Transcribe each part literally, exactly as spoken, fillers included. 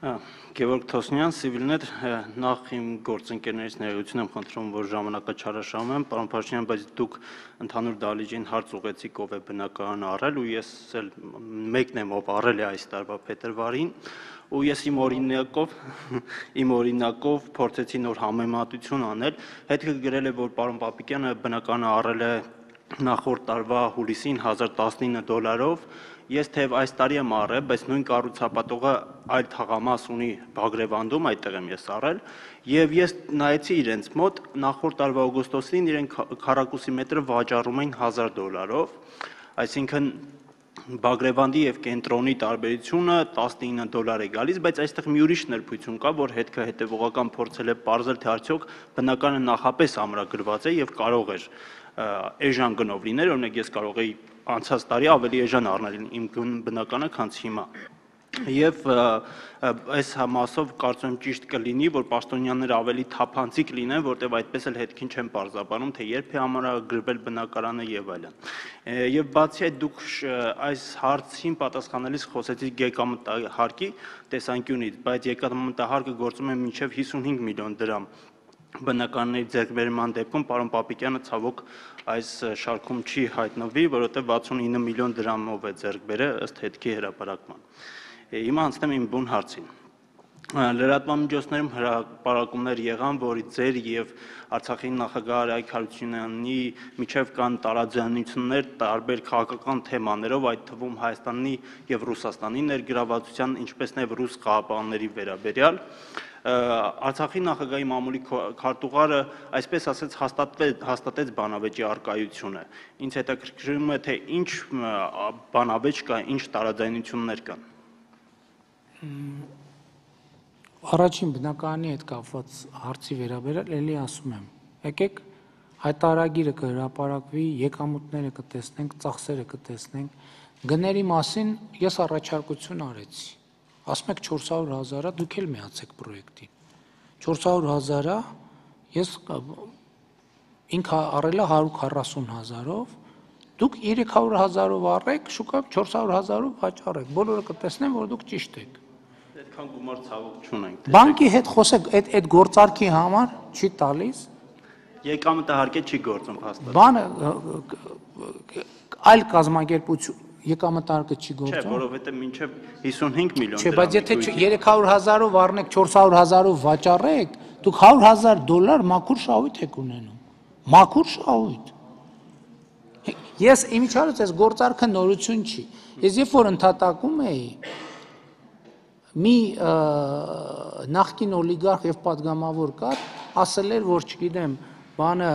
Գևորգ Թոսնյան, Civilnet, նախ իմ գործընկերներից ներողություն եմ խնդրում, որ ժամանակը չարաշահում եմ, պարոն Փաշինյան, բայց դուք ընդհանուր դահլիճին հարց ուղեցիք, ով է բնակարանը առել, ու ես էլ մեկն եմ, ով առել է այս տարվա փետրվարին, ու ես իմ օրինակով, իմ օրինակով փորձեցի նոր համեմատություն անել, հետքը գրել է, որ պարոն Պապիկյանը բնակարանը առել է նախորդ տարվա հուլիսին հազար տասնինը դոլարով, ես թեև այս տարի եմ առել, բայց նույն կառուցապատողը այլ թաղամաս ունի Բագրևանդում, այդտեղ եմ ես առել, եւ ես նայեցի իրենց մոտ նախորդ տարվա օգոստոսին իրենք քառակուսի մետրը վաճառում էին հազար դոլարով, այսինքն Բագրևանդի եւ կենտրոնի տարբերությունը տասնինը դոլար է գալիս, բայց այստեղ մի ուրիշ ներբույթություն կա, որ հետքը հետևողական փորձել է պարզել, թե արդյոք բնակարանը նախապես ամրագրված է եւ կարող էր էժան գնով լիներ, օրինակ ես կարող էի անցած տարի ավելի էժան առնել իմ բնականը, քան հիմա։ Եվ այս համասով կարծում եմ ճիշտ կլինի, որ պաշտոնյաները ավելի թափանցիկ լինեն, որտեղ այդպես էլ հետքին չեն պարզաբանում, թե երբ է ամրագրվել բնակարանը եւ այլն։ Եվ բացի այդ դուք այս հարցին պատասխանելիս խոսեցիք եկամտահարկի տեսանկյունից, բայց եկամտահարկը գործում է մինչեւ հիսունհինգ միլիոն դրամ բնակարանների ձեռքբերման դեպքում պարոն Պապիկյանը ցավոք այս շարքում չի հայտնվի, որովհետև վաթսունինը միլիոն դրամով է ձեռք բերել ըստ հետքի հրապարակման։ Հիմա անցնեմ իմ բուն հարցին։ Լրատվամիջոցներում հրապարակումներ եղան, որ ձեր եւ Արցախի նախագահ Արայք Հարությունյանի միջև կան տարաձայնություններ տարբեր քաղաքական թեմաներով, այդ թվում Հայաստանի եւ Ռուսաստանի ներգրավվածության, ինչպես նաեւ ռուս խաղաղապահների վերաբերյալ։ Արցախի նախագահի մամուլի քարտուղարը, այսպես ասած, հաստատեց բանավեճի առկայությունը։ Ինձ հետաքրքրում է, թե ինչ բանավեճ կա, ինչ տարաձայնություններ կան։ Առաջին բնակարանի հետ կապված հարցի վերաբերյալ էլի ասում եմ, եկեք հայտարարագիրը կհրապարակվի, եկամուտները կտեսնենք, ծախսերը կտեսնենք, գների մասին ես առաջարկություն արեցի, ասում եք չորս հարյուր հազարա, դուք էլ միացեք պրոյեկտին, չորս հարյուր հազարա, ես ինքը առել է հարյուր քառասուն հազարով, դուք երեք հարյուր հազարով առեք, շուկայում չորս հարյուր հազարով վաճառեք, բոլորը կտեսնեն, որ դուք ճիշտ եք։ Այդքան գումար ցավոք չունենք։ Բանկի հետ խոսեք, այդ այդ գործարքի համար չի տալիս։ Եկամտահարկե չի գործում հաստատ։ Բանը այլ կազմակերպություն եկամտահարկը չի գործում։ Չէ, որովհետև մինչև հիսունհինգ միլիոն դրամ։ Չէ, բայց եթե երեք հարյուր հազարով առնեք, չորս հարյուր հազարով վաճառեք, դուք հարյուր հազար դոլար մաքուր շահույթ եք ունենում։ Մաքուր շահույթ։ Ես իմիջիալից այս գործարքը նորություն չի։ Ես երբ որ ընդհատակում էի, մի նախկին օլիգարխ եւ պատգամավոր կար, ասել էր, որ չգիտեմ, բանը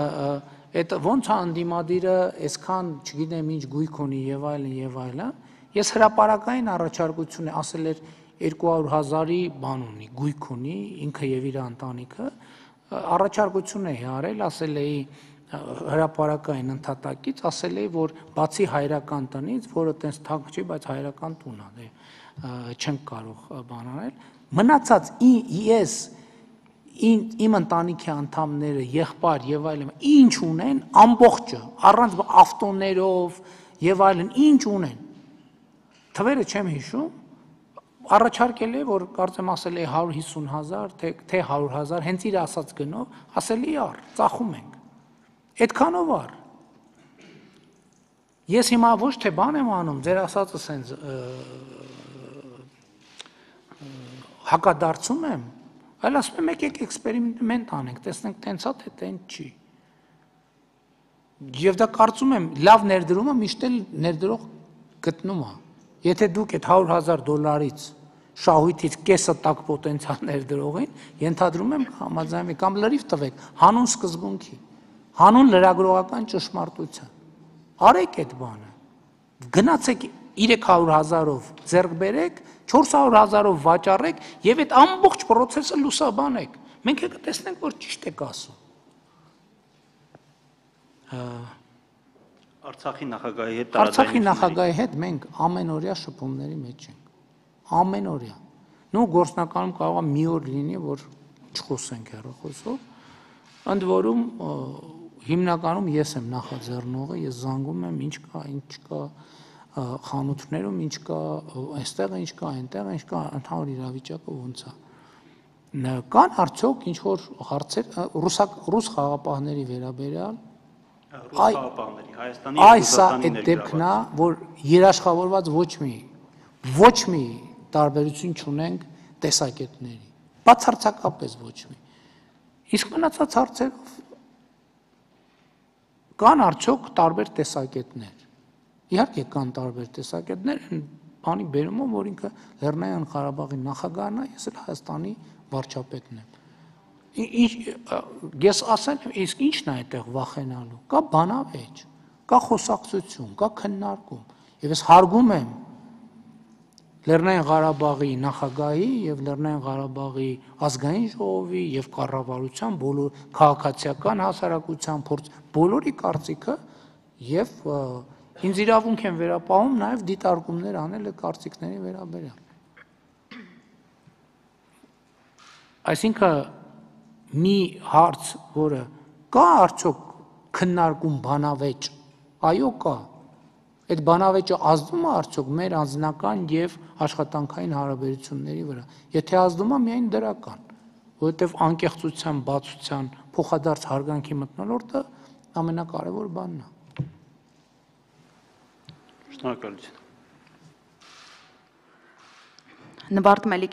այդ ոնց է անդիմադիրը այսքան, չգիտեմ, ինչ գույք ունի եւ այլն եւ այլն, ես հրապարակային առաջարկություն է ասել էր երկու հարյուր հազարի բան ունի, գույք ունի, ինքը եւ իր ընտանիքը, առաջարկություն է արել, ասել էի հրապարակային ընդհատակից, ասել էի, որ բացի հայրական տնից, որը տենց թանկ չի, բայց հայրական տուն է, դե չենք կարող բան անել, մնացած ես իմ ընտանիքի անդամները, եղբայր եւ այլն, ինչ ունեն, ամբողջը, առանց ավտոներով եւ այլն, ինչ ունեն։ Թվերը չեմ հիշում, առաջարկել է, որ կարծեմ ասել է հարյուր հիսուն հազար, թե թե հարյուր հազար, հենց իր ասած գնով, ասել է առ, ծախում ենք։ Այդքանով առ։ Ես հիմա ոչ թե բան եմ անում, ձեր ասածը սենց հակադարձում եմ, այլ ասում եմ եկեք էքսպերիմենտ անենք, տեսնենք տենց է, թե տենց չի։ Եվ դա կարծում եմ լավ ներդրումը միշտ էլ ներդրող գտնում է։ Եթե դուք այդ հարյուր հազար դոլարից շահույթից կեսը տակ պոտենցիալ ներդրողին, ենթադրում եմ համաձայնվի կամ լրիվ տվեք հանուն սկզբունքի, հանուն լրագրողական ճշմարտության։ Արեք այդ բանը։ Գնացեք երեք հարյուր հազարով ձեռք բերեք, չորս հարյուր հազարով վաճառեք եւ այդ ամբողջ process-ը լուսաբանեք։ Մենք եկա տեսնենք, որ ճիշտ եք ասում։ Արցախի նախագահի հետ Արցախի նախագահի հետ մենք ամենօրյա շփումների մեջ ենք։ Ամենօրյա։ Նու գործնականում կարող է մի օր լինի, որ չխոսենք հեռախոսով։ Ընդ որում հիմնականում ես եմ նախաձեռնողը, ես զանգում եմ, ինչ կա, ինչ կա, խանութներում ինչ կա, այստեղ ինչ կա, այնտեղ ինչ կա, ընդհանուր իրավիճակը ոնց է։ Կան արդյոք ինչ որ հարցեր ռուս խաղապահների վերաբերյալ Ռուսախաղապահների Հայաստանի Այ սա այդ դեպքն է, որ երաշխավորված ոչ մի ոչ մի տարբերություն չունենք տեսակետների, բացարձակապես ոչ մի։ Իսկ մնացած հարցերով կան արդյոք տարբեր տեսակետներ։ Իհարկե կան տարբեր տեսակետներ, բանի բերումով, որ ինքը Լեռնային Ղարաբաղի նախագահն է, ես էլ Հայաստանի վարչապետն եմ։ Ես ասել եմ, իսկ ի՞նչն է այդտեղ վախենալու։ Կա բանավեճ, կա խոսակցություն, կա քննարկում, եւ ես հարգում եմ Լեռնային Ղարաբաղի նախագահի եւ Լեռնային Ղարաբաղի ազգային ժողովի եւ կառավարության բոլոր քաղաքացիական հասարակության փորձ բոլորի կարծիքը եւ ինձ իրավունք են վերապահում նաեւ դիտարկումներ անել այդ կարծիքների վերաբերյալ։ Այսինքն մի հարց, որը կա արդյոք քննարկում բանավեճ, այո կա։ Այդ բանավեճը ազդում է արդյոք մեր անձնական եւ աշխատանքային հարաբերությունների վրա։ Եթե ազդում է, միայն դրական, որովհետեւ անկեղծության, բացության, փոխադարձ հարգանքի մթնոլորտը ամենակարևոր բանն է։ Շնորհակալություն։ Նվարդ Մելիք